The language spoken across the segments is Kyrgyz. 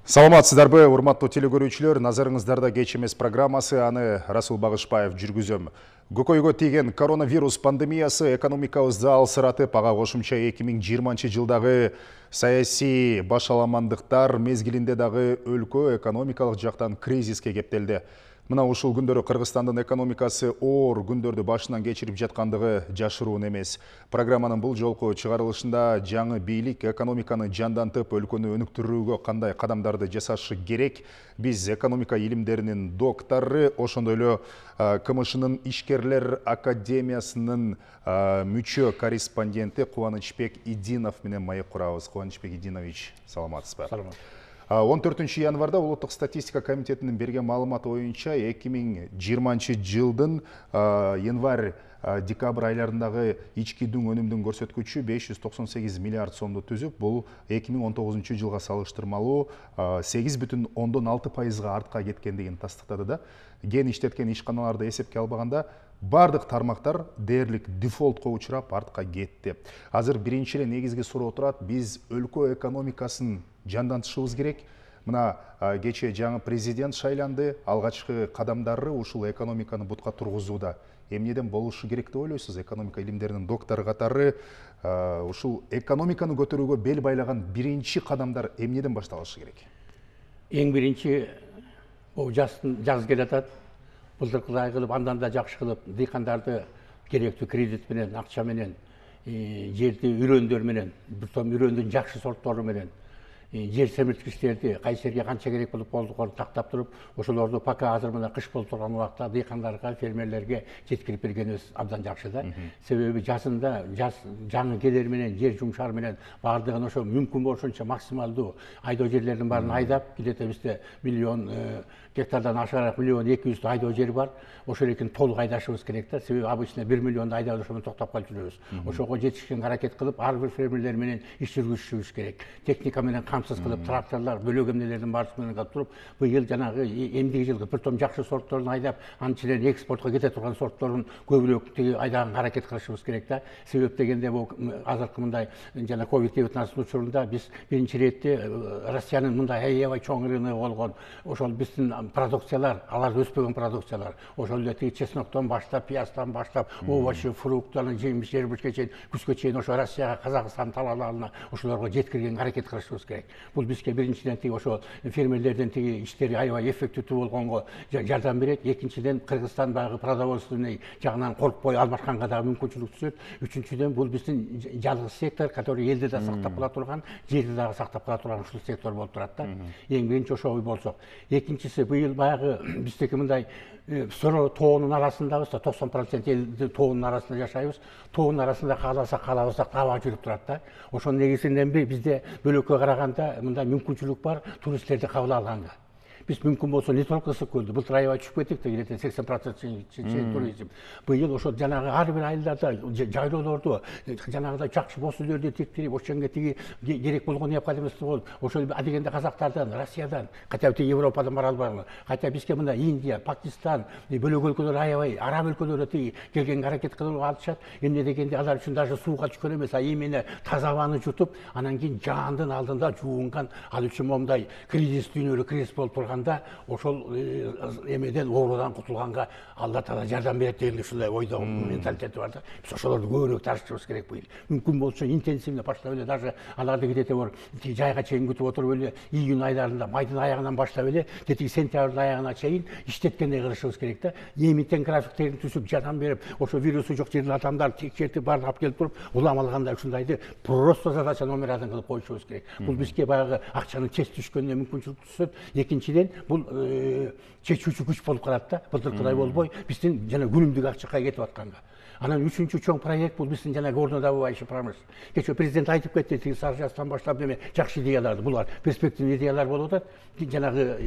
Саламатсыздарбы, урматтуу телекөрүүчүлөр, назарыңыздарда кеч эмес программасы, аны Расул Багышбаев жүргүзөм. Көкөйгө тийген коронавирус пандемиясы экономикабызды алсыратып, ага кошумча 2020 жылдагы саясий башаламандыктар мезгилинде дагы өлкө экономикалык жактан кризиске кептелди. Мына ушул күндөрү Кыргызстандын экономикасы оор күндөрдү башынан кечирип жаткандыгы жашыруун эмес. Программанын бул жолку чыгарылышында жаңы бийлик экономиканы жандантып, өлкөнү өнүктүрүүгө кандай кадамдарды жасашы керек? Биз экономика илимдеринин доктору, ошондой эле КМШнын ишкерлер академиясынын мүчө корреспонденти Кубанычбек Идинов менен маек курабыз. Кубанычбек Идинович, саламатсызбы? Саламат. 14 январда Улуттук статистика комитетинин берген маалыматы боюнча 2020 жылдын январь-декабрь айларындагы ички дүң өнүмдүн көрсөткүчү 598 миллиард сомду түзүп, бул 2019 жылга салыштырмалуу 8,6% артка кеткендигин тастыктады да. Ген иштеткен ишканаларды эсепке албаганда бардык тармактар дээрлик дефолтко учурап артка кетти. Азыр биринчи эле негизги суроо турат: биз өлкө экономикасын жандантышыбыз керек. Мына кечээ жаңы президент шайланды, алгачкы кадамдары ушул экономиканы бутка тургузууда. Эмнеден болушу керек деп ойлойсуз? Экономика илимдеринин доктору катары ушул экономиканы көтөрүүгө бел байлаган биринчи кадамдар эмнеден башталышы керек? Эң биринчи жаз келатат. Былтыркыдай кылып, андан да жакшы кылып, дыйкандарды керектүү кредит менен, акча менен, жерди үрөндөр менен, бир том үрөндүн жакшы сорттору менен жер семирткичтерди кайсы жерге канча керек болуп болдукорун тактап туруп, ошолорду пока азыр мына кыш болуп турган убакта дыйкандарга, фермерлерге жеткирип бергенибиз абдан жакшы да. Себеби жазында жаңы келер менен, жер жумшар менен бардыгын ошо мүмкүн болушунча максималдуу айдоо жерлердин баарын айдап, килете бизде миллион гектардан ашыгыраак 1,2 миллион айдоо жер бар. Ошол экин толук айдашыбыз керек да. Себеби обычно 1 миллионду айдап ошондо токтоп калып жүрөбүз. Ошого жетишкен аракет кылып, ар бир фермерлер менен иш жүргүзүшүбүз керек. Техника менен камсыз кылып, тракторлор, бөлөк эмнелердин баарысы менен кылып туруп, быйыл жанагы эмдиги жылкы бир том жакшы сортторун айдап, анын ичинен экспортко кете турган сортторун көбүрөөк айдаганга аракет кылышыбыз керек да. Себеп дегенде бул азыркы мындай жана COVID-19 учурунда биз биринчи ирет Россиянын мындай аябай чоң рыногу болгон, ошол биздин продукциялар, алар өспөгөн продукциялар, ошол эле чесноктон баштап, пияздан баштап, овощи, фруктан, жемиш, жербишке чейин, күзгө чейин ошо Россияга, Казакстан талааларына ошолорго жеткиргенге аракет кылышыбыз керек. Бул бизге биринчиден ошо фермерлердин иштери аябай эффективдүү болгонго жардам берет. Экинчиден Кыргызстан багы продовольственный жагынан коркпой алмашканга дагы мүмкүнчүлүк түзөт. Үчүнчүдөн бул биздин жалгыз сектор, который элди да сактап кала турган, жерди дагы сактап кала турган ушул сектор болуп турат да. Эң биринчи ошо болсок. Экинчиси, быйыл баягы биздеки мындай сороо тоонун арасындабыз да, 90% элди тоонун арасында жашайбыз. Тоонун арасында каалабасак таба жүрүп турат да. Ошонун негизинен bizde bölөккө караганда мындай мүмкүнчүлүк бар туристтерди кабыл алганга. Biz мүмкүн болсо не только ысык көлдү, былтыр аябай түшүп кеттик да, 80% туризм. Быйыл ошо жанагы ар бир айылдарда жайлоолорду жанагыдай жакшы боз үйлөрдү тиктирип, ошонго тиги керек болгон необходимости болуп, ошол адегенде казактардан, Россиядан, катя Европадан бара албайбы, катя бизге мына Индия, Пакистан, бөлөк өлкөлөр аябай араб өлкөлөрү тиги келгенге аракет кылып алышат. Эмне дегенде алар үчүн даже сууга түшкөн эмес, именно таза абаны жутуп, анан кийин жаандын алдында жуунган, ал үчүн момундай кризис дүйнөлүк кризис болуп ошол эмеден оорудан кутулганга Алла Таала жардам берет деген ушундай ойдо менталитети бар да. Биз ошолорду көбүрөөк тарышыбыз керек быйыл. Мүмкүн болсо интенсивно баштап эле, даже аларды кидете бар жайга чейин күтүп отуруп эле, июнь айларында майдын аягынан баштап эле, тетиги сентябрдын аягына чейин иштеткендей кылышыбыз керек да. Эмитен графиктерин түзүп, жардам берип, ошо вирусу жок жердин адамдарды текшертип баарын алып келип туруп, улам алганда ушундайды просто задача номер 1 кылып коюшубуз керек. Бул бизге баягы акчанын чеч түшкөнүнө мүмкүнчүлүк түзөт. Экинчиден бул чечүүчү күч болуп калат да. Былтыркыдай болбой, биздин жана күнүмдүк акчакка кетип атканга. Анан үчүнчү чоң проект бул биздин жана горнодобывающий промышленность. Кечээ президент айтып кетти, тиги Саржастан баштап деме жакшы идеяларды, булар перспективный идеялар болуп атат. Жанагы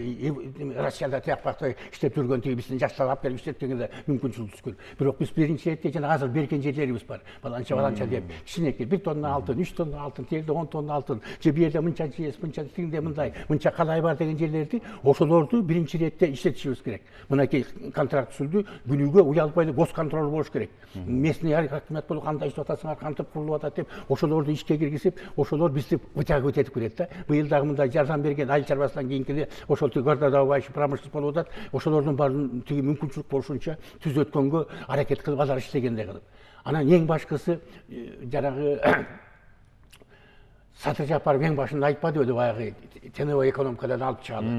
Россияда тияк-бакта иштеп жүргөн тиги биздин жаштар алып келип иштеткенге мүмкүнчүлүк түшкөн. Бирок биз биринчи эрте жана азыр берген жерлерибиз бар. Баланча деп кичинекей 1 тонна алтын, 3 тонна алтын, тегде 10 тонна алтын, же бу жерде мынча жез, мынча тигинде мындай, мынча калай бар деген жерлерди ошолорду биринчи иретте иштетишибиз керек. Мынакей контракт түзүлдү, күнүгө уялбай госконтроль болуш керек. Местный хакимият болуп кандай иштеп атасыңар, кантип курулуп атат деп, ошолорду ишке киргизип, ошолор бизди вытягивать этип келет да. Быйыл дагы мындай жардам берген айыл чарбасынан кийинки ошол горнодобывающий промышленность болуп атат. Ошолордун баарын тиги мүмкүнчүлүк болушунча түзөткөнгө аракет кылып, алар иштегендей кылып. Анан эң башкысы жанагы Сатыр Жапаров эң башында айтпады өдө баягы теневой экономикадан алып чыгалы.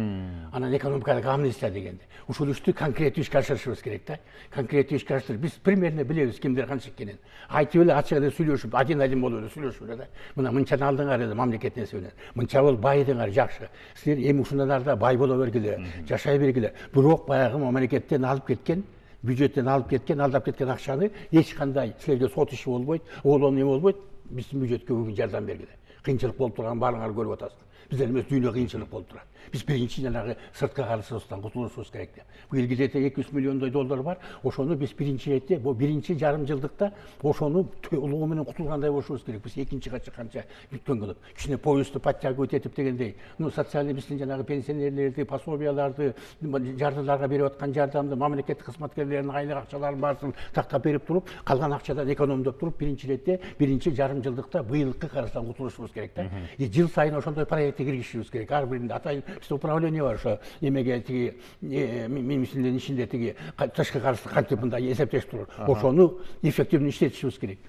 Анан экономикадагы амнистия дегенде. Ушул ишти конкреттүү ишке ашырышыбыз керек да. Конкреттүү ишке ашырып, биз примерно билебиз кимдер канча экенин. Айтып эле ачык эле сүйлөшүп, один болуп эле сүйлөшүп эле да. Мына мынчаны алдыңар эле мамлекет несибенен. Мынча болуп байыдыңар жакшы. Силер эми ушундан ары да бай боло бергиле, жашай бергиле. Бирок баягы мамлекеттен алып кеткен, бюджеттен алып кеткен, алдап кеткен акчаны эч кандай силерге сот иши болбойт, оолон эме болбойт, биздин бюджетке бүгүн жардам бергиле. Кыйынчылык болуп турган баарыңар көрүп атасыздар. Биздер эмес дүйнө кыйынчылык болуп турат. Биз биринчи жанагы сырткы карызыбыздан кутулушубуз керек деп. Бул гидете 200 миллиондой доллар бар. Ошону биз биринчи иретте, бул биринчи жарым жылдыкта ошону толугу менен кутулгандай болушубуз керек. Биз экинчиге чыкканча бүткөн кылып, ичине поездду подтягивать этип дегендей, социальный биздин жанагы пенсионерлерди, пособияларды, жардыларга берип аткан жардамды, мамлекеттик кызматкерлердин айлык акчаларын баарысын тактап берип туруп, калган акчадан экономдоп туруп, биринчи иретте, биринчи жарым жылдыкта быйылкы карыздан кутулушубуз керек да. Жыл сайын ошондой проектке киргизишибиз керек. Ар биринде атайын бизде управление бар, ошо эмеге тиги министрликтин ичинде тиги тышкы карызды кантип мындай эсептешип туруп, ошону эффективдүү иштетишибиз керек.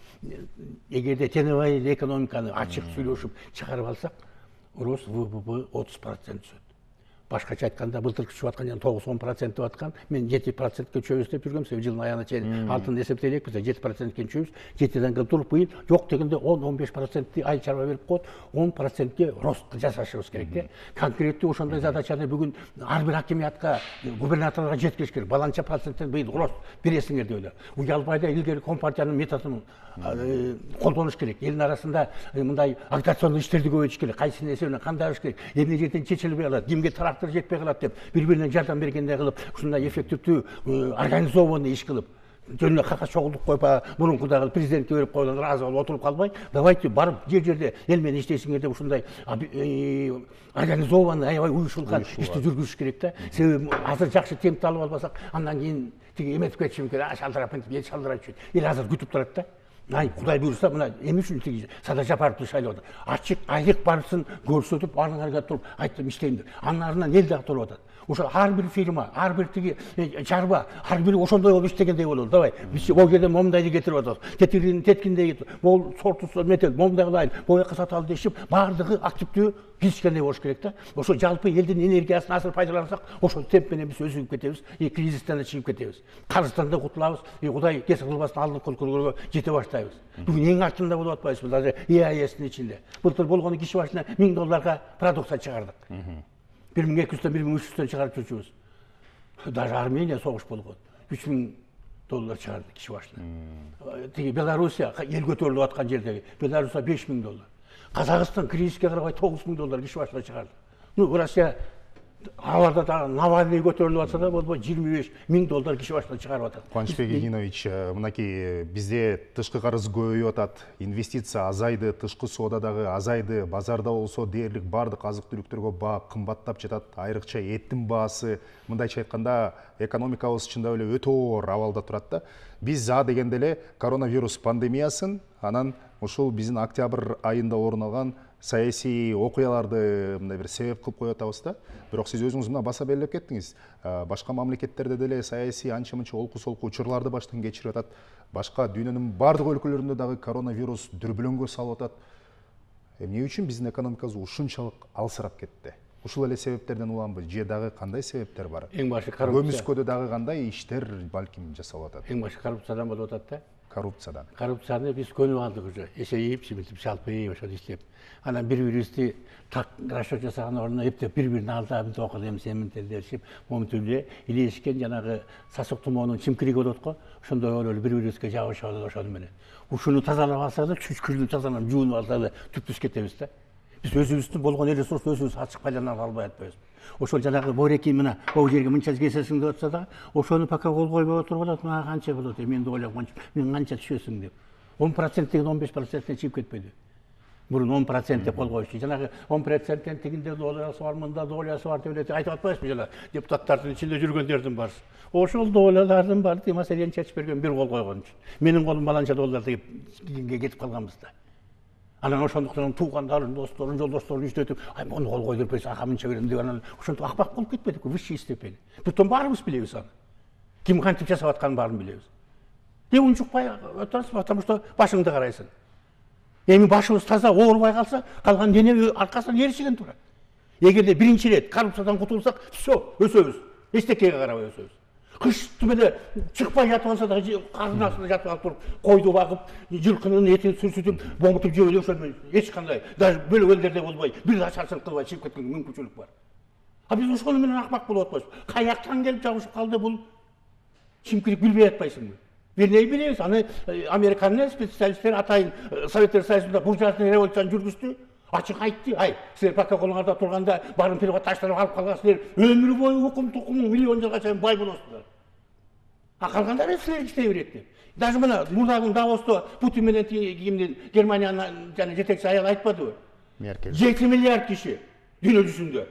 Эгерде теневой экономиканы ачык сүйлөшүп чыгарып алсак, рост ВВП 30% түшөт. Башкача айтканда былтыркы түшүп аткан жана 9-10% деп аткан, мен 7%ке түшөбүз деп жүргөм, себеби жылдын аягына чейин алтын эсептелек, биз 7%ке түшөбүз, 7ден кылып туруп быйыл жок дегенде 10-15%ти айыл чарба берип коет, 10%ке рост жасашыбыз керек да. Конкреттүү ошондой задачаны бүгүн ар бир хакимиятка, губернаторлорго жеткириш керек. Баланча проценттен быйыл рост бересиңер деп эле. Уялбай да илгери компартиянын методун колдонуш керек. Элдин арасында мындай агитационный иштерди көбөйтүш керек. Кайсы нерсени кандай алыш керек, эмне жерден чечилбей калат, кимге трактор жетпей калат деп бири-бирине жардам бергендей кылып, ушундай эффективдүү организованный иш кылып, жөн эле кагаз чогултуп коюп, мурункудагы президентке берип койгон ыраазы болуп отуруп калбай, давайте барып жер-жерде эл менен иштейсиңер деп ушундай организованный, аябай уюшулган ишти жүргүзүш керек да. Себеби азыр жакшы темпти алып албасак, андан кийин тиги эметип кетиши мүмкүн. Шалдырап эл шалдырап жүрөт. Эл азыр күтүп турат да. Ай, Кудай буйруса, мына эми үчүн тиги Садыр Жапаровду шайлап атат. Ачык айлык барысын көрсөтүп, баарыңарга туруп айттым иштейм деп. Анын артынан эл дагы туруп атат. Ошо ар бир фирма, ар бир тиги чарба, ар бири ошондой болуп иштегендей бололу. Давай, биз могу жерден момундайды кетирип атабыз. Теткиндей кетип, могул сортусу метел, момундай кылайын, бояка саталы дешип, баардыгы активдүү киришкендей болуш керек да. Ошо жалпы элдин энергиясын азыр пайдалансак, ошол темп менен биз өзүгүп кетебиз, кризистен да чыгып кетебиз. Карыздан да кутулабыз, Кудай кесип кылбасын алдыңкы өлкөлөргө жете баштайбыз. Бүгүн эң артында болуп атпайбызбы, даже ЕАЭСтин ичинде. Былтыр болгону киши башына $1000 продукция чыгардык. 1200-төн 1300-төн чыгарып жүрчүбүз. Даже Армения согуш болгон. $3000 чыгарды киши башына. Тиги Белоруссия эл көтөрүлүп аткан жердеги Белоруссия $5000. Казакстан кризиске карабай $9000 киши башына чыгарды. Россия аларда да Навальный көтөрүлүп атса да болбой $25000 киши башына чыгарып атат. Кубанычбек Игинович, мынакей бизде тышкы карыз көбөйүп атат, инвестиция азайды, тышкы соодадагы азайды, базарда болсо дээрлик бардык азык-түлүктөргө баа кымбаттап жатат, айрыкча эттин баасы, мындайча айтканда экономикабыз чындап эле өтө оор абалда турат да. Биз дегенде эле коронавирус пандемиясын, анан ушул биздин октябрь айында орун алган саясий окуяларды мындай бир себеп кылып коюп атабыз да. Бирок сиз өзүңүз мына баса белгилеп кеттиңиз. Башка мамлекеттерде деле саясий анча-мынча олку-солку учурларды баштан кечирип атат. Башка дүйнөнүн бардык өлкөлөрүндө дагы коронавирус дүрбүлөңгө салып атат. Эмне үчүн биздин экономикабыз ушунчалык алсырап кетти? Ушул эле себептерден уламбы? Же дагы кандай себептер бар? Эң башы коррупция. Көмүскөдө дагы кандай иштер балким жасалып атат? Эң башы коррупциядан болуп атат да. Коррупциядан. Коррупцияны биз көнүп алдык уже. Эсейип, чимитип, жалпыйып ошол иштеп. Анан бири-бирибизди так расчет жасаган ордуна эптеп бири-бирин алдап, мынтип окудум, сен мынтип дешип, момунтип эле илешкен жанагы сасык тумоонун чимкириги болот го. Ошондой болуп эле бири-бирибизге жабышып алып ошону менен. Ушуну тазалап алсак да, чүчкүрдү тазалап, жуунуп алсак да түптүз кетебиз да. Биз өзүбүздүн болгон ресурсту өзүбүз ачык пайдалана албай атпайбызбы? Ошол жанагы Бореки мына могу жерге мынча кесесиң деп атса да, ошону пока кол койбой отуруп алат, мага канча болот, мен деп ойлоп, мен канча түшөсүң деп. 10% деген 15%-не чыгып кетпейди. Мурун 10% деп кол коюшту. Жанагы 10%тен тигинде долларсы бар, мында долларсы бар деп айтып атпайсызбы жана депутаттардын ичинде жүргөндөрдүн барысы. Ошол долларлардын баары маселени чечип берген бир кол койгон үчүн. Менин колум баланча доллар деп кетип калганбызда. Анан ошондуктан туугандарын, досторун, жолдошторун иштетип, муну кол койдуруп берсе, мынча берем деп анан ошентип акбак болуп кетпедик, высший степень. Бүтүн баарыбыз билебиз аны. Ким кантип жасап атканын баарын билебиз. Деп унчукпай отурасыз, потому что башыңды карайсың. Эми башыбыз таза оорубай калса, калган дене аркасынан еришиген турат. Эгерде биринчи ирет коррупциядан кутулсак, все, өсөбүз. Эчтекеге карабай өсөбүз. Кыштын эле чыкпай жатып алса да кардын астында жатып алып туруп, койду багып, жылкынын этин сүрсүтүп, боңутуп жеп ошондой эч кандай, даже бөлөк элдерде болбой, бир ачарчылык кылбай чыгып кеткен мүмкүнчүлүк бар. А биз ошол менен акмак болуп атпайбыз. Каяктан келип жабышып калды бул? Чимкирип билбей атпайсыңбы? Бирнеи билебиз, аны Американын специалисттери атайын Советтер Союзунда буржуазный революцияны жүргүздү. Ачык айтты, силер протоколуңарда турганда барын приватташтырып алып калгансыңар, өмүр бою укум тукумуң миллион жылга чейин бай болосуңар. А калгандары силер иштей берет деп. Даже мына мурдагы Давосто Путин менен кимдин Германиянын жана жетекчи аял айтпадыбы? Меркель. 7 миллиард киши дүйнө жүзүндө.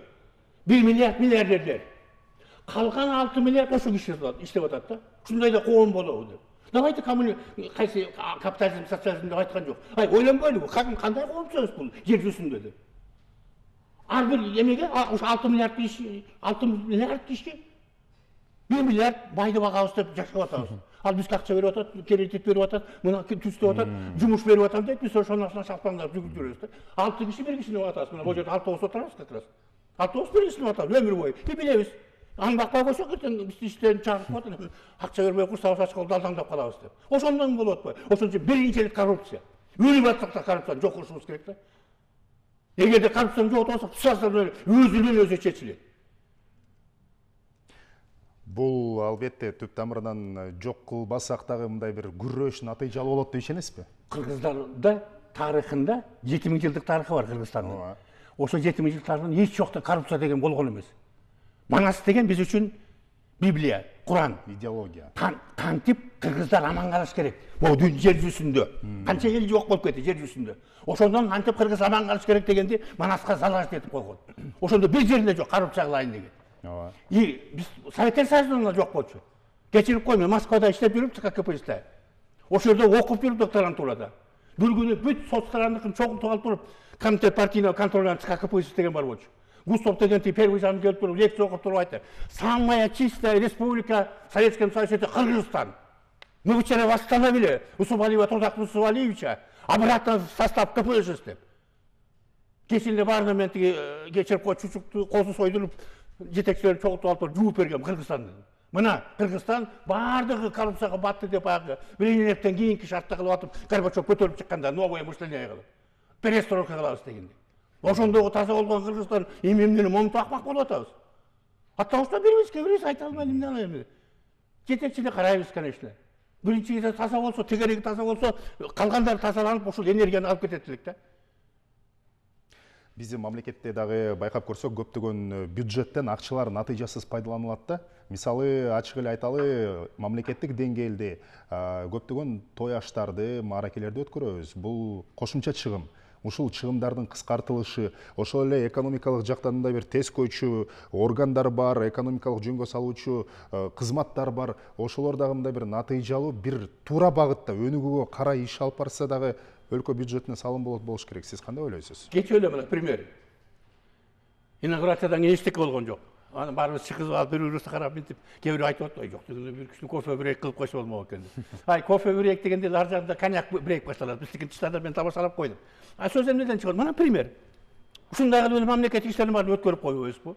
1 миллиард миллиардерлер. Калган 6 миллиард ошо киши иштеп атат да. Ушундай да коом болобу деп. Давайте кайсы капитализм, социализм деп айткан жок. Ойлонбойлубу, кандай коомчубуз бул жер жүзүндө деп. Ар бир эмеге 6 миллиард киши, 1 миллиард байды багабыз деп жашап атабыз. Ал бизге акча берип атат, кредит берип атат, мына түстөп атат, жумуш берип атам деп биз ошонусуна шалпаңдап жүгүрүп жүрөбүз да. 6 киши бир кишини атабыз. Мына бул жерде автобус отурабыз как раз. Автобус бир кишини атабыз өмүр бою. Билебиз. Аны бакпай койсок эртең биз иштен чыгарып коет, акча бербей курсабыз ачкылып алдаңдап калабыз деп. Ошондон болуп атпайбы? Ошон үчүн биринчи эле коррупция. Өлүп атсак да коррупцияны жок кылышыбыз керек да. Эгерде коррупцияны жок болсок, сразу өзү чечилет. Бул албетте түп тамырынан жок кылбасак дагы мындай бир күрөш натыйжалуу болот деп ишенесизби? Кыргыздарда тарыхында 7000 жылдык тарыхы бар Кыргызстандын. Ошо 7000 жыл тарыхында эч жокто коррупция деген болгон эмес. Манас деген биз үчүн Библия, Куран, идеология. Кантип кыргыздар аман калыш керек. Бул жер жүзүндө. Канча ел жок болуп кетти жер жүзүндө. Ошондон кантип кыргыз аман калыш керек дегенди Манаска залаж этип койгон. Ошондо бир жеринде жок коррупция кылайын деген. Биз Советтер Союзунда жок болчу. Кечирип кой, мен Москвада иштеп жүрүп, КПССте. Ошол жерде окуп жүрүп докторантурада. Бир күнү бүт соцтарандыкын чогултуп алып туруп, комитет партийного контроля КПСС деген бар болчу. Густов деген первый зам келип туруп лекция окуп туруп айтты. Самая чистая республика в Советском Союзе это Кыргызстан. Мы вчера восстановили Усубалиева Трудак Усубалиевича обратно в состав КПСС деп. Кечинде баарына мен тиги кечирип кой чучукту козу сойдуруп жетекчилерди чогултуп алып жууп берген Кыргызстанды. Мына Кыргызстан баардыгы коррупцияга батты деп баягы Лениневден кийинки шартта кылып атып Горбачев көтөрүп чыкканда новое мышление кылып перестройка кылабыз дегенде. Ошондогу таза болгон Кыргызстан эмнени момунтуп акмак болуп атабыз. Аттабызда бирибиз айта албайм эмне эми. Жетекчине карайбыз, конечно. Биринчи таза болсо, тегереги таза болсо, калгандары тазаланып ошол энергияны алып кетет элек да. Биздин мамлекетте дагы байкап көрсөк, көптөгөн бюджеттен акчалар натыйжасыз пайдаланылат да. Мисалы, ачык эле айталы, мамлекеттик деңгээлде көптөгөн той аштарды, мааракелерди өткөрөбүз. Бул кошумча чыгым. Ушул чыгымдардын кыскартылышы, ошол эле экономикалык жактан мындай бир тез койчу органдар бар, экономикалык жөнгө салуучу кызматтар бар. Ошолор дагы мындай бир натыйжалуу, бир туура багытта өнүгүүгө карай иш алып барса дагы өлкө бюджетине салым болуш керек. Сиз кандай ойлойсуз? Кечээ эле мына пример. Инаугурациядан эчтеке болгон жок. Аны баарыбыз чыгып алып бири-бирибизге карап мынтип, кээ бирөө айтып атпайбы, жок дегенде бир киши кофе брейк кылып койсо болмок экен. Кофе брейк дегенде ар жагында коньяк брейк башталат. Биздики тыштарда мен тамашалап койдум. Сөз эмнеден чыгат? Мына пример. Ушундай кылып эле мамлекеттик иштердин баарын өткөрүп коебузбу?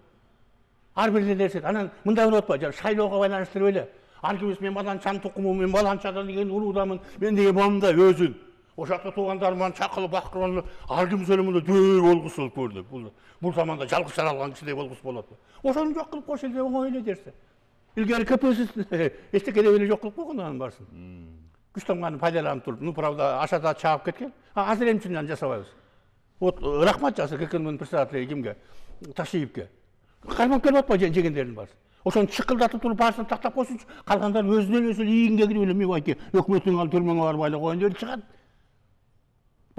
Ар бир нерсе. Анан мындай болуп атпайбы? Шайлоого байланыштырып эле. Ар кимис мен баланчанын тукуму, мен баланчадан деген уруудамын, мен деген момундай өзүн. Ошакта туугандарыман чакылып бакырып, ар ким сөлөмүндө дөй болгусу болуп көрдү. Бул заманда жалгыз жаралган кишидей болгусу болот. Ошону жок кылып койсо эле оңой эле дерсе. Илгери КПСС эчтеке деп эле жок кылып койгон анын баарысын. Күчтөнгөнү пайдаланып туруп, ну правда, ашада чаап кеткен. Азыр эмче аны жасабайбыз. Вот рахмат жазды ККМдын председатели кимге? Ташиевке. Каймап келип атпайбы жегендердин баарысы. Ошону чыкылдатып туруп баарысын тактап койсунчу, калгандары өзүнөн өзү ийинге кирип эле мебайки өкмөттүн ал түрмөңө барбай эле коеюн деп чыгат.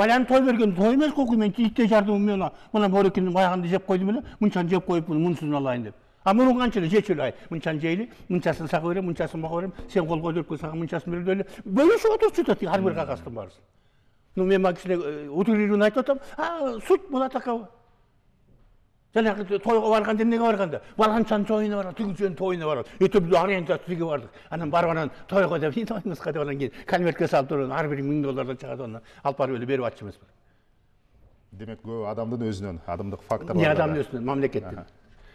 Баян той берген той эмес кокуй, мен итте жардым мен мына борекинин баягынды жеп койдум эле, мынчаны жеп коюп мунусун алайын деп. А мунун канчалык жечү эле, мынчаны жейли, мынчасын сага берем, мынчасын мага берем, сен кол көтөрүп сага мынчасын берди эле. Бөлүшүп отурчу да ар бир кагастын баарысын. Ну мен максиле утрированно айтып атам, суть была такова. Жанагы тойго барганда эмнеге барганда? Баланчанын тойуна барат, түгүчөнүн тойуна барат. Өтөп ориентация тиги бардык. Анан барып анан тойго деп, тойуңузга деп анан кийин конвертке салып туруп, ар бири $1000 чыгат, аны алып барып эле берип атчу эмеспи. Демек, көп адамдын өзүнөн, адамдык факторлор. Не адамдын өзүнөн, мамлекеттин.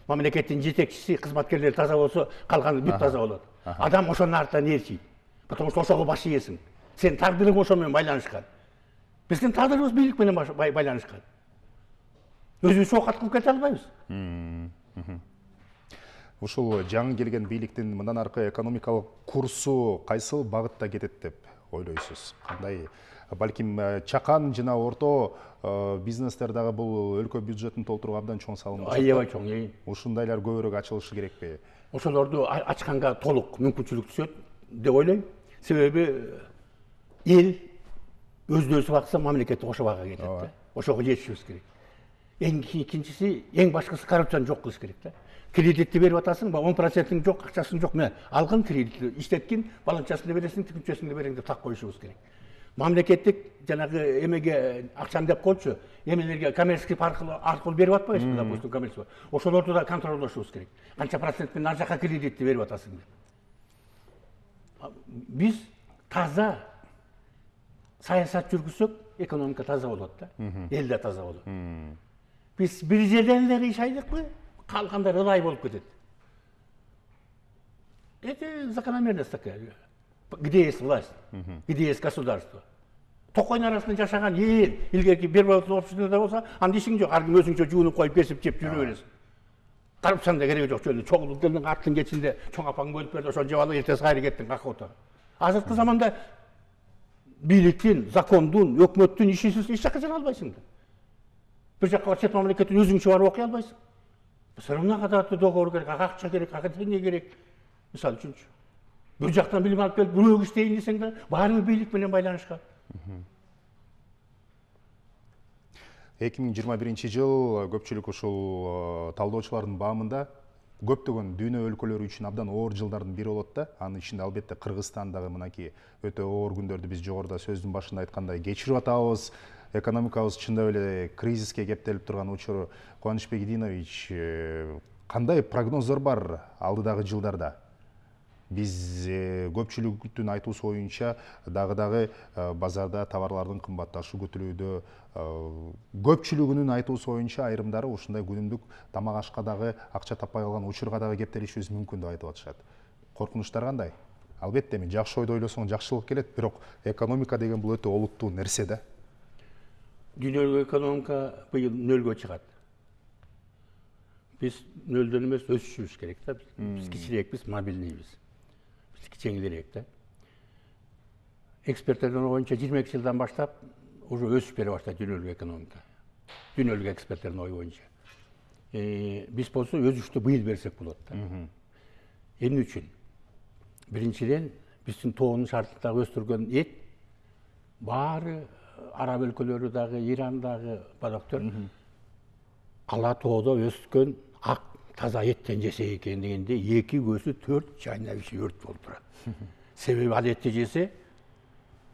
Мамлекеттин жетекчиси, кызматкерлери таза болсо, калганы бүт таза болот. Адам ошонун артынан ээрчийт. Потому что ошого баш ийесиң. Сен тагдырың ошо менен байланышкан. Биздин тагдырыбыз бийлик менен байланышкан. Өзүбүз оокат кылып кете албайбыз. Ушул жаңы келген бийликтин мындан аркы экономикалык курсу кайсыл багытта кетет деп ойлойсуз? Кандай? Балким чакан жана орто бизнестер дагы бул өлкө бюджетин толтурууга абдан чоң салым. Аябай чоң. Ушундайлар көбүрөөк ачылышы керекпи? Ошолорду ачканга толук мүмкүнчүлүк түшөт деп ойлойм. Себеби эл өзү бакса мамлекетти ошо бага кетет да. Ошого жетишибиз керек. Экинчиси, эң башкысы коррупцияны жок кылыш керек да. Кредитти берип атасың, 10%-ң жок, акчасың жок, мен алгын кредитти иштеткин, баланчасын да бересиң, тигинчесин да берең деп так коюшубуз керек. Мамлекеттик жанагы эмеге акчаны деп коючу, эмелерге коммерческий аркылуу берип атпайбызбы, допустим, коммерческий. Ошолорду да контролдошубуз керек. Канча процент менен ар жака кредитти берип атасың деп. Биз таза саясат жүргүзсөк, экономика таза болот да. Эл да таза болот. Биз бир жерден эле кыйшайлыкпы, калгандар ылай болуп кетет. Это закономерность такая. Где есть власть, где есть государство. Токойдун арасында жашаган эл, илгерки бир обществода болсо, анда ишиң жок, ар ким өзүнчө жуунуп коюп кесип жеп жүрө бересиң. Коррупцияның да кереги жок, жөн чогулуктун аттын кечинде чоң апаң бөлүп берди, ошону жеп алып эртеси кайра кеттиң какоото. Азыркы заманда бийликтин, закондун, өкмөттүн ишисиз эч жакка жана албайсың да. Бир жакка чет мамлекеттин өзүңчө барып окуй албайсың. Все равно кадатты договор керек, акча керек, академия керек. Мисалы үчүнчү. Бир жактан билим алып келип, бирөөгө иштейин десең да, баары бийлик менен байланышкан. 2021 көпчүлүк ушул талдоочулардын баамында көптөгөн дүйнө өлкөлөрү үчүн абдан оор жылдардын бири болот да. Анын ичинде албетте Кыргызстан дагы мынакей өтө оор күндөрдү биз жогоруда сөздүн башында айткандай кечирип атабыз. Экономикабыз чындап эле кризиске кептелип турган учур. Кубанычбек Идинович, кандай прогноздор бар алдыдагы жылдарда? Биз көпчүлүктүн айтуусу боюнча дагы базарда товарлардын кымбатташы күтүлүүдө, көпчүлүгүнүн айтуусу боюнча айрымдары ушундай күнүмдүк тамак ашка дагы акча таппай калган учурга дагы кептелишибиз мүмкүн деп айтып атышат. Коркунучтар кандай? Албетте эми жакшы ойдо ойлосоң жакшылык келет, бирок экономика деген бул өтө олуттуу нерсе да. Дүйнөлүк экономика быйыл нөлгө чыгат. Биз нөлдөн эмес өсүшүбүз керек да. Биз кичирээкпиз, мобилныйбыз. Жеңилирээк да. Эксперттердин оюнча 22 жылдан баштап уже өсүп бере баштайт дүйнөлүк экономика. Дүйнөлүк эксперттердин ою боюнча. Биз болсо өсүштү быйыл берсек болот да. Эмне үчүн? Биринчиден, биздин тоонун шартындагы өстүргөн эт баары араб өлкөлөрү дагы, Иран дагы бадактар ала тоодо өскөн ак таза еттен жесе экен дегенде 2 көзү 4 чайнабичи өрт болуп турат. Себеби ал этти жесе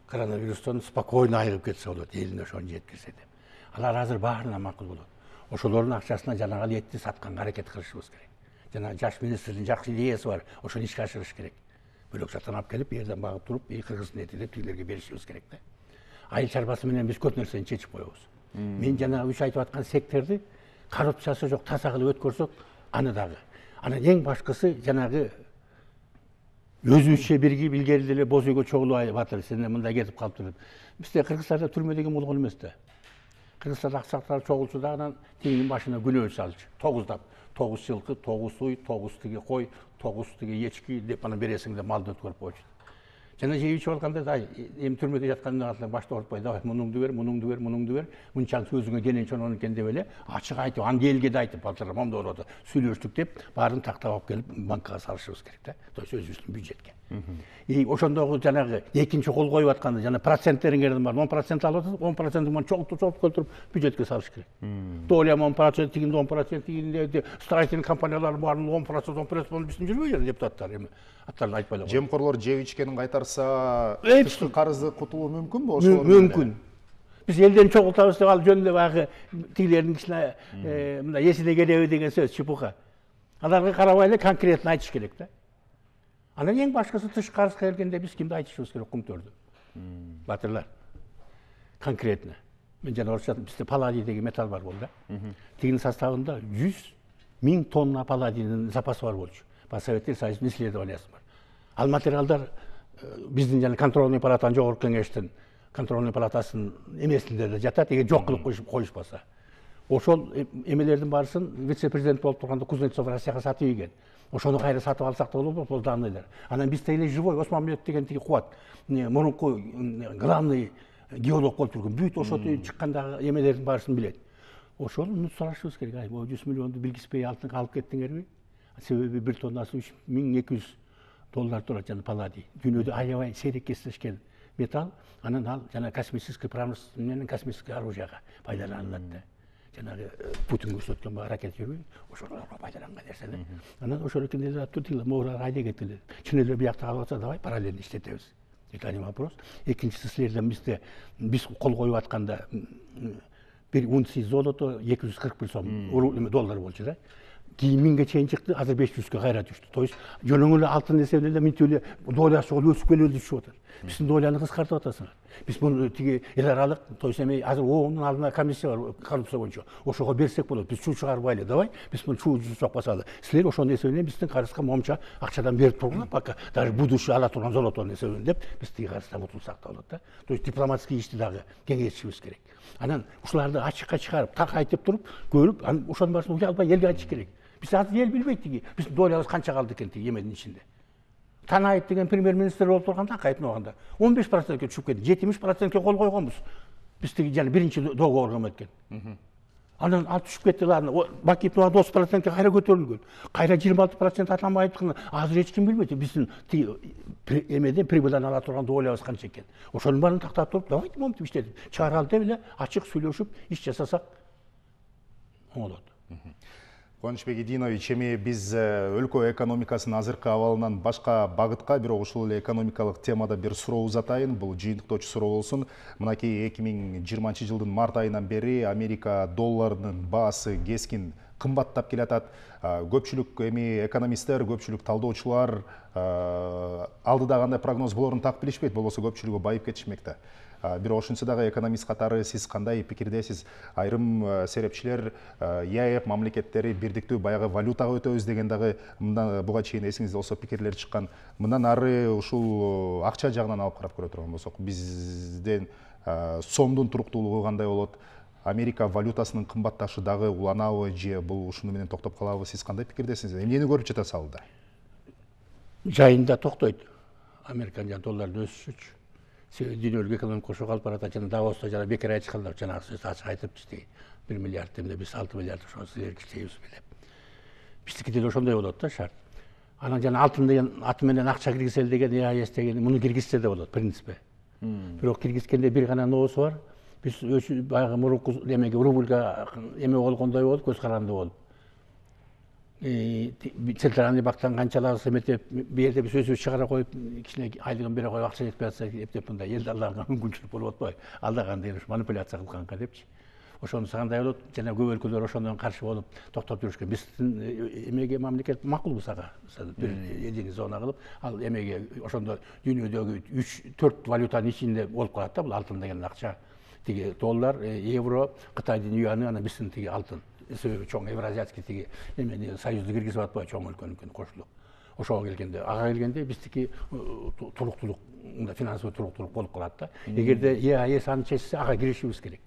коронавирустан спокойно айыгып кетсе болот, элине ошону жеткирсе деп. Алар азыр баарына макул болот. Ошолордун акчасына жанагы этти сатканга аракет кылышыбыз керек. Жана жаш министрдин жакшы идеясы бар, ошону ишке ашырыш керек. Бөлөк жактан алып келип, жерден багып туруп, кыргыздын эти деп тигилерге беришибиз керек да. Айыл чарбасы менен биз көп нерсени чечип коебуз. Мен жана үч айтып аткан секторду коррупциясы жок таза кылып өткөрсөк, аны дагы. Анан эң башкысы жанагы өзүбүзчө биригип илгери деле боз үйгө чогулуп атыр, сен мындай кетип калыптыр деп. Бизде Кыргызстанда түрмө деген болгон эмес да. Кыргызстанда аксактар чогулчу да анан тигинин башына күнөө салчу. 9 жылкы, 9 уй, 9 тиги кой, 9 тиги ечки деп анан бересиң деп малды өткөрүп койчу. Жана жеп ичип алганда да эми түрмөдө жатканда алар башта ортпой, давай мунуңду бер, мунуңду бер. Мынчалык сөзүңө денең чоңон экен деп эле ачык айтып, аны элге да айтып, балдар мондой болуп атат. Сүйлөштүк деп баарын тактап алып келип банкага салышыбыз керек да. То есть өзүбүздүн бюджетке. Ошондогу жанагы экинчи кол коюп атканда жана проценттериңердин бар 10% алып атат, 10%-ын чогултуп келтирип бюджетке салыш керек. Доля 10%, тигинде 10%, тигинде строительный компаниялар барын 10% болуп биздин жүрбөйбү депутаттар эми аттарын айтпай эле. Жемкорлор жеп ичкенин кайтарса, тышкы карызды кутулуу мүмкүнбү ошолор? Мүмкүн. Биз элден чогултабыз деп ал жөнүндө баягы тигилердин кичине мындай эсине келеби деген сөз чепуха. Аларга карабай эле конкретно айтыш керек да. Анан эң башкысы тышкы карызга келгенде биз кимди айтышыбыз керек? Кумтөрдү. Батырлар. Конкретно. Мен жана орусча бизде палладий деген металл бар болду да. Тигинин составында 100.000 тонна палладийдин запасы бар болчу. По Советтер Союзунун исследованиясы бар. Ал материалдар биздин жана контрольный палатанын жогорку кеңештин контрольный палатасынын эмесинде да жатат, эгер жок кылып коюшпаса. Ошол эмелердин баарысын вице-президент болуп турганда Кузнецов Россияга сатып ийген. Ошону кайра сатып алсак да болобу, бул данныйлар. Анан бизде эле живой Осмонбек деген тиги кубат. Мурунку главный геолог болуп турган. Бүт ошо чыккандагы эмелердин баарысын билет. Ошону сурашыбыз керек. Ай, бул 100 миллионду билгизбей алтынга алып кеттиңерби? Себеби 1 тоннасы $3200 турат жана палладий. Дүйнөдө аябай сейрек кездешкен металл, анан ал жана космический промышленность менен космический оружияга пайдаланылат да. Жанагы Путин көрсөткөн ракета жүрбөйбү? Ошолорго пайдаланган нерсе да. Анан ошол экен деле туттиле моора айда кетиле. Чын эле биякта калып атса, давай параллельно иштетебиз. Это не вопрос. Экинчиси силерден биз кол коюп атканда bir унция золото 241 сом доллар болчу да. Кийин 1000ге чейин чыкты, азыр 500ге кайра түштү. То есть жөнөң эле алтын эсебинде мынтип эле долясы өсүп келип түшүп атат. Биздин доляны кыскартып атасыңар. Биз муну тиги эл аралык, то есть эми азыр ООНдун алдына комиссия бар коррупция боюнча. Ошого берсек болот. Биз чуу чыгарбайлы, давай. Биз муну чуу жусак басалы. Силер ошонун эсебинен биздин карызга момча акчадан берип тургула, пока даже будущий ала турган золотонун эсебинен деп биз тиги карыздан утулсак да болот да. То есть дипломатский ишти дагы кеңейтишибиз керек. Анан ушуларды ачыкка чыгарып, так айтып туруп, көрүп, анан ошонун баарысын уялбай элге айтыш керек. Биз азыр эл билбейт тиги. Биздин долябыз канча калды экен тиги эменин ичинде. Танаев деген премьер-министр болуп турганда кайтып абаганда 15%ге түшүп кетти. 70%ге кол койгонбуз. Биз тиги жана биринчи договорго эметкен. Анан ал түшүп кетти, аны Бакиев 30%ге кайра көтөрүлгөн. Кайра 26% атамай айткан. Азыр эч ким билбейт. Биздин тиги эмеден прибылдан ала турган долябыз канча экен. Ошонун баарын тактап туруп, давайте моментип иштетип, чыгара деп эле ачык сүйлөшүп, иш жасасак болот. Кубанычбек Идинович, эми биз өлкө экономикасынын азыркы абалынан башка багытка, бирок ушул эле экономикалык темада бир суроо узатайын. Бул жыйынтыктоочу суроо болсун. Мынакей 2020 жылдын март айынан бери Америка долларынын баасы кескин кымбаттап келатат. Көпчүлүк эми экономисттер, көпчүлүк талдоочулар алдыда кандай прогноз болорун так билишпейт, болбосо көпчүлүгү байып кетишмекте. Бирок ошентсе дагы экономист катары сиз кандай пикирдесиз? Айрым серепчилер ЕАЭП мамлекеттери бирдиктүү баягы валютага өтөбүз деген дагы буга чейин эсиңизде болсо пикирлер чыккан. Мындан ары ушул акча жагынан алып карап көрө турган болсок, бизден сомдун туруктуулугу кандай болот? Америка валютасынын кымбатташы дагы уланабы же бул ушуну менен токтоп калабы? Сиз кандай пикирдесиз? Эмнени көрүп жатасыз алда? Жайында токтойт. Американын долларды өсүшүчү. Дүйнөлүк экономика ошо калып баратат. Жана Давоста жана бекер айтышкандар, жанагы сөздү ачык айтыпчы. 1 миллиард демде биз 6 миллиард ошо силерге чейбиз билеп. Биздики деле ошондой болот да шарт. Анан жана алтын деген аты менен акча киргизели деген ЕАЭС деген муну киргизсе да болот принципе. Бирок киргизгенде бир гана ноосу бар. Биз баягы мурунку эмеге рубльга эме болгондой болуп, көз каранды болуп. Центральный банктан канчалабыз эметип, бу жерде биз өзүбүз чыгара коюп, кичине айлыгын бере коюп, акча жетпей атса эптеп мындай эл аларга мүмкүнчүлүк болуп атпайбы? Алда кандай манипуляция кылганга депчи. Ошонусу кандай болот? Жана көп өлкөлөр ошондон каршы болуп токтоп жүрүшкөн. Биздин эмеге мамлекет макулбуз ага. Бир единый зона кылып, ал эмеге ошондо дүйнөдөгү 3-4 валютанын ичинде болуп калат да, бул алтын деген акча. Тиги доллар, евро, Кытайдын юаны, анан биздин тиги алтын. Себеби чоң евразиатский тиги эмени союзду киргизип атпайбы, чоң өлкөнүн кошулуп. Ошого келгенде, ага келгенде биздики туруктуулук, финансылык туруктуулук болуп калат да. Эгерде ЕАЭС аны чечсе, ага киришибиз керек.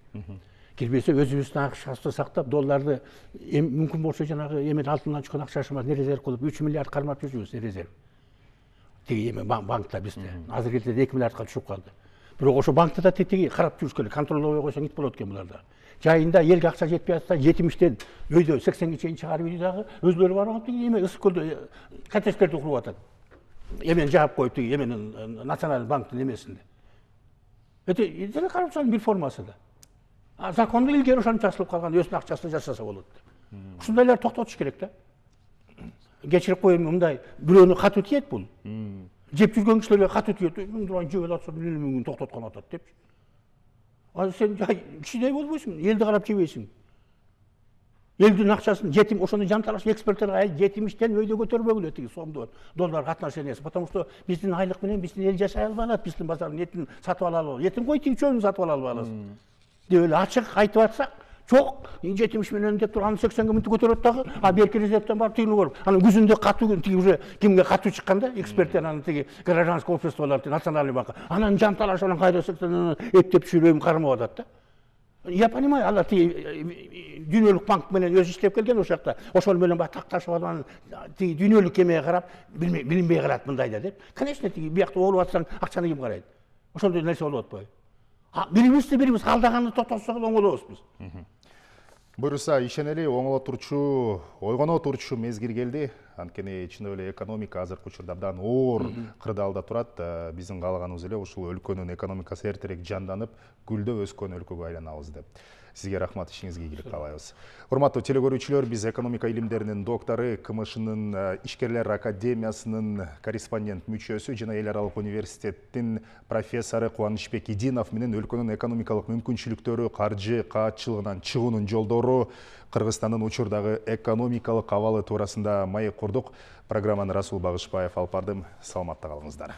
Кирбесе өзүбүздүн акчабызды сактап, долларды мүмкүн болсо жанагы эмен алтындан чыккан акчашыбызды резерв кылып 3 миллиард кармап жүрүбүз резерв. тиги эме банкта бизде. Азыр кетти 2 миллиардка түшүп калды. Бирок ошо банкта да тиги карап жүрүш керек, контролдой койсоң ит болот экен буларда. Жайында элге акча жетпей атса, жетимиштен өйдө 80ге чейин чыгарып үйдө дагы өзлөрү барып тиги эме ысык көлдө коттедждерди куруп атат. Эмени жаап коюп тиги эменин националдык банктын эмесинде. Эти коррупциянын бир формасы да. Законду илгери ошентип жасалып калган, өзүнүн акчасына жашаса болот. Ушундайларды токтотуш керек да. Кечирип коеюн, мындай бирөөнү катуу тиет бул. Жеп жүргөн кишилерге катуу тиет. Мындай жеп атса, мени токтоткон атат депчи. Ал сен кичиней болбойсуң, элди карап жебейсиң. Элдин акчасын жетим ошону жанталаш эксперттер жетимиштен өйдө көтөрбөгүлө тиги сомдон доллар отношениясы, потому что биздин айлык менен биздин эл жашай албай алат, биздин базардын этин сатып ала албайбыз. Этин кой тиги чөбүн сатып ала албайбыз. Деп эле ачык айтып атсак, жок, 70 менен деп туруп аны 80ге мынтип көтөрөт дагы, берки резервден барып тигини көрүп, анан күзүндө катуу тиги уже кимге катуу чыкканда, эксперттер анан тиги гражданский обществолор, национальный банк, анан жанталаш анан кайра 80 эптеп түшүрөм кармап атат да. Я понимаю, алар тиги дүйнөлүк банк менен өзү иштеп келген ошол жакта, ошол менен баягы такташып алып, тиги дүйнөлүк эмеге карап, билинбей калат мындайда деп. Конечно, тиги биякта оолуп атсаң, акчаны ким карайт? Ошондой нерсе болуп атпайбы? Бирибиз алдаганы токтотсок оңолобуз биз. Буюрса, ишенели ойгоно турчу мезгил келди. Анткени чын эле экономика азыркы учурда абдан оор кырдаалда турат. Биздин каалаганыбыз эле ушул өлкөнүн экономикасы эртерээк жанданып, гүлдөп өскөн өлкөгө айланабыз деп. Сизге рахмат, ишиңизге ийгилик каалайбыз. Урматтуу телекөрүүчүлөр, биз экономика илимдеринин доктору, КМШнын Ишкерлер академиясынын корреспондент мүчөсү жана эл аралык университеттин профессору Кубанычбек Идинов менен өлкөнүн экономикалык мүмкүнчүлүктөрү, каржы каатчылыгынан чыгуунун жолдору, Кыргызстандын учурдагы экономикалык абалы туурасында маек курдук. Программаны Расул Багышбаев алып бардым. Саламатта калыңыздар.